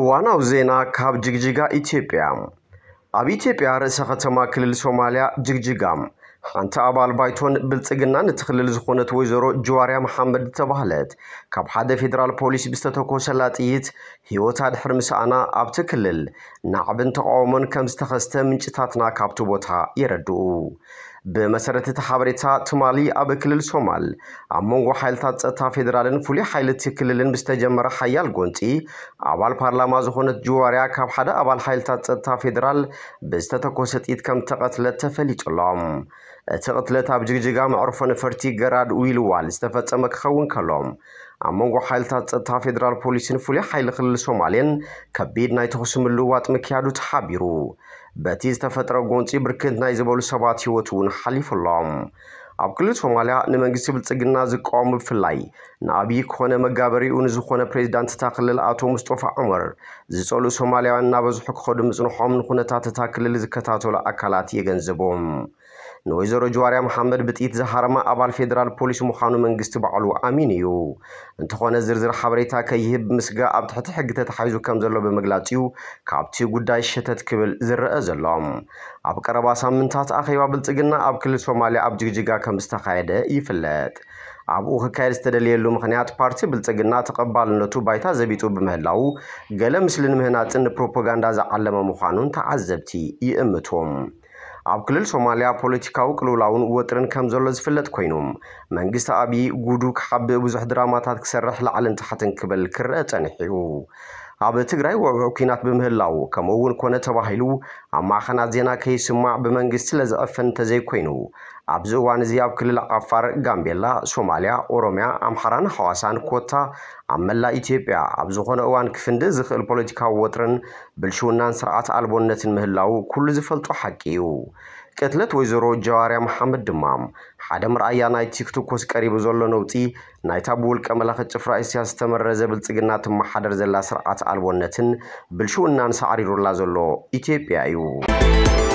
ዋናው ዜና ካብ ጅግጅጋ ኢትዮጵያ። ኣብ ኢትዮጵያ ርእሰ ከተማ ክልል ሶማልያ ጅግጅጋ፣ ሓንቲ ኣባል ባይቶን ብልጽግናን እቲ ክልል ዝኾነት ወይዘሮ ጅዋርያ መሓመድ ዝተባህለት፣ ካብ ሓደ ፌደራል ፖሊስ ብዝተተኮሰላ ጥይት ህይወታ ድሕሪ ምስኣና፣ ኣብቲ ክልል ናዕብን ተቃውሞን ከም ዝተኸስተ ምንጭታትና ካብቲ ቦታ የረድኡ። ብመሰረት እቲ ሓበሬታ፣ ትማሊ ኣብ ክልል ሶማል ኣብ መንጎ ሓይልታት ጸጥታ ፌደራልን ፍሉይ ሓይሊ እቲ ክልልን ብዝተጀመረ ሓያል ጎንጺ፣ ኣባል ፓርላማ ዝኾነት ጅዋርያ ካብ ሓደ ኣባል ሓይልታት ጸጥታ ፌደራል ብዝተተኮሰ ጥይት ከም ተቐትለት ተፈሊጡ ኣሎ። እቲ ቅትለት ኣብ ጅግጅጋ መዕርፎ ነፈርቲ ገራድ ዊልዋል ዝተፈጸመ ክኸውን ከሎ፣ ኣብ መንጎ ሓይልታት ጸጥታ ፌደራል ፖሊስን ፍሉይ ሓይሊ ክልል ሶማሌን ከቢድ ናይ ተኹሲ ምልውዋጥ ምክያዱ ተሓቢሩ። በቲ ዝተፈጥረ ጎንጺ ብርክት ናይ ዝበሉ ሰባት ህይወት እውን ሓሊፉ ኣሎ። ኣብ ክልል ሶማልያ ንመንግስቲ ብልጽግና ዝቃወሙ፣ ብፍላይ ንኣብይ ክኾነ መጋበሪኡ ንዝኾነ ፕሬዚዳንት እታ ክልል ኣቶ ሙስጦፋ ዑመር ዝጸልኡ ሶማልያውያን እናበዝሑ ክኸዱ ምጽንሖም ንኩነታት እታ ክልል ዝከታተሉ ኣካላት የገንዝቡ። ንወይዘሮ ጅዋርያ መሓመድ ብጥይት ዝሃረማ ኣባል ፌደራል ፖሊስ ምዃኑ መንግስቲ ባዕሉ ኣሚኑ እዩ። እንተኾነ ዝርዝር ሓበሬታ ከይህብ ምስጋእ ኣብ ትሕቲ ሕጊ ተታሒዙ ከም ዘሎ ብምግላጽ እዩ ካብቲ ጉዳይ ሸተት ክብል ዝረአ ዘሎ። ኣብ ቀረባ ሳምንታት ኣኼባ ብልጽግና ኣብ ክልል ሶማልያ ኣብ ጅግጅጋ ከም ዝተኻየደ ይፍለጥ። ኣብኡ ክካየድ ዝተደለየሉ ምኽንያት ፓርቲ ብልጽግና ተቐባልነቱ ባይታ ዘቢጡ ብምህላው ገለ ምስሊ ንምህናጽን ንፕሮፓጋንዳ ዝዓለመ ምዃኑን ተዓዘብቲ ይእምቱ። ኣብ ክልል ሶማልያ ፖለቲካዊ ቅልውላውን ወጥርን ከም ዘሎ ዝፍለጥ ኮይኑ፣ መንግስቲ ኣብይ ጉዱ ክሓብእ ብዙሕ ድራማታት ክሰርሕ ላዕልን ታሕትን ክብል ክረአ ጸኒሑ እዩ። ኣብ ትግራይ ውዕውዕ ኲናት ብምህላው፣ ከምኡ እውን ኮነ ተባሂሉ ኣብ ማዕኸናት ዜና ከይስማዕ ብመንግስቲ ስለዝዕፈን እንተዘይኮይኑ፣ ኣብዚ እዋን እዚ ኣብ ክልል ዓፋር፣ ጋምቤላ፣ ሶማልያ፣ ኦሮሚያ፣ ኣምሓራን ሓዋሳን ኮታ ኣብ መላእ ኢትዮጵያ ኣብ ዝኾነ እዋን ክፍንድእ ዝኽእል ፖለቲካዊ ወጥርን ብልሽውናን ስርዓት ኣልቦነትን ምህላው ኩሉ ዝፈልጦ ሓቂ እዩ። ቅትለት ወይዘሮ ጀዋርያ መሓመድ ድማ ሓደ መርኣያ ናይቲ ክትኮስ ቀሪቡ ዘሎ ነውጺ ናይታ ብውልቀ መላኺ ጭፍራ ኢሳያስ ዝተመረዘ ብልጽግና ትመሓደር ዘላ ስርዓት ኣልቦነትን ብልሽውናን ሳዕሪሩላ ዘሎ ኢትዮጵያ እዩ።